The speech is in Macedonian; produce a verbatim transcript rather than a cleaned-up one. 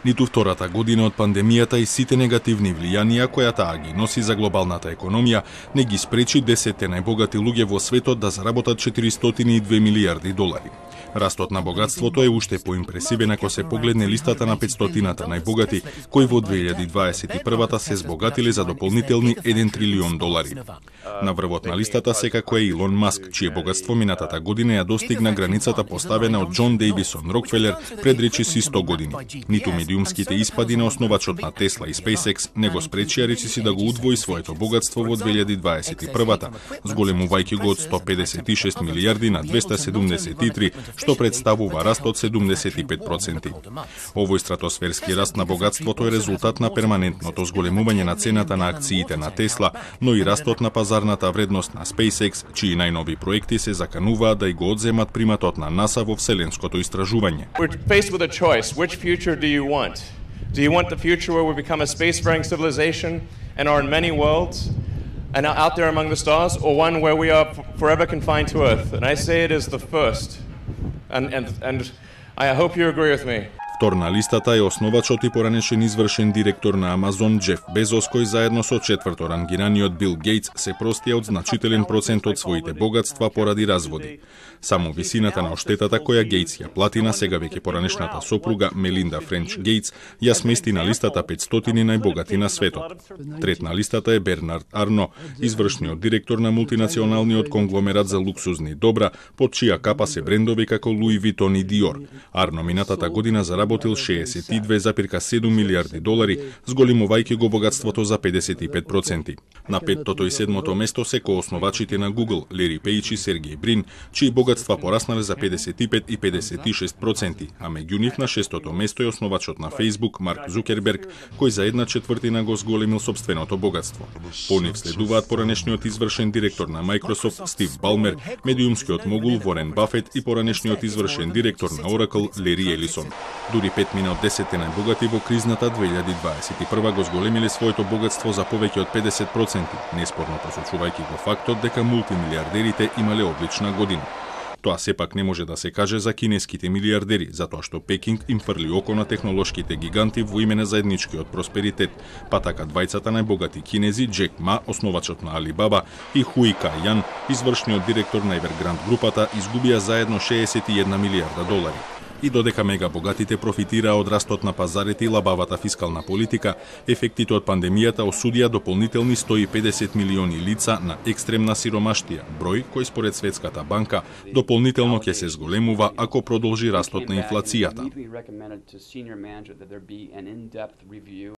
Ниту втората година од пандемијата и сите негативни влијанија која таа ги носи за глобалната економија не ги спречи десетте најбогати луѓе во светот да заработат четиристотини и две милијарди долари. Растот на богатството е уште поимпресивен ако се погледне листата на петстотината најбогати, кои во две илјади дваесет и прва се збогатиле за дополнителни еден трилион долари. На врвот на листата секако е Илон Маск, чие богатство минатата година ја достигна границата поставена од Џон Дејвисон Рокфелер пред речиси сто години. Ниту медиумските испади на основачот на Тесла и SpaceX не го спречија речиси да го удвои своето богатство во две илјади дваесет и прва, зголемувајќи го од сто педесет и шест милијарди на двесте седумдесет и три, што представува раст од седумдесет и пет проценти. Овој стратосферски раст на богатството е резултат на перманентното зголемување на цената на акциите на Тесла, но и растот на пазарната вредност на SpaceX, чии најнови проекти се закануваат да и го одземат приматот на НАСА во вселенското истражување. We're faced with a choice. Which future do you want? Do you want the future where we become a spacefaring civilization and are in many worlds and are out there among the stars, or one where we are forever confined to Earth? And I say it is the first. And, and, and I hope you agree with me. Втор на листата е основачот и поранешен извршен директор на Амазон Џеф Безос, кој заедно со четврто рангираниот Бил Гейтс се простија од значителен процент од своите богатства поради разводи. Само висината на оштетата која Гейтс ја плати на сега веќе поранешната сопруга Мелинда Френч Гейтс ја смести на листата петстотини најбогати на светот. Трет на листата е Бернард Арно, извршниот директор на мултинационалниот конгломерат за луксузни добра, под чија капа се брендови како Луи Витон и Диор. Арно минатата година заработил шеесет и две запирка седум милијарди долари, зголемувајќи го богатството за педесет и пет проценти. На петтото и седмото место се коосновачите на Google, Лери Пејч и Сергеј Брин, чии богатства пораснале за педесет и пет и педесет и шест проценти, а меѓу нив на шестото место е основачот на Facebook, Марк Зукерберг, кој за една четвртина го зголемил собственото богатство. По нив следуваат поранешниот извршен директор на Microsoft, Стив Балмер, медиумскиот могул Ворен Бафет и поранешниот извршен директор на Oracle, Лери Елисон. Дури петмина од десетте најбогати во кризната две илјади дваесет и прва го зголемиле своето богатство за повеќе од педесет проценти, неспорно посочувајќи го фактот дека мултимилијардерите имале одлична година. Тоа сепак не може да се каже за кинеските милијардери, затоа што Пекинг им фрли око на технолошките гиганти во име на заедничкиот просперитет, па така двајцата најбогати кинези, Џек Ма, основачот на Алибаба, и Хуи Кај Јан, извршниот директор на Evergrande групата, изгубија заедно шеесет и една милијарда долари. И додека мега богатите профитираа од растот на пазарите и лабавата фискална политика, ефектите од пандемијата осудија дополнителни сто и педесет милиони лица на екстремна сиромаштија, број кој според Светската банка дополнително ќе се зголемува ако продолжи растот на инфлацијата.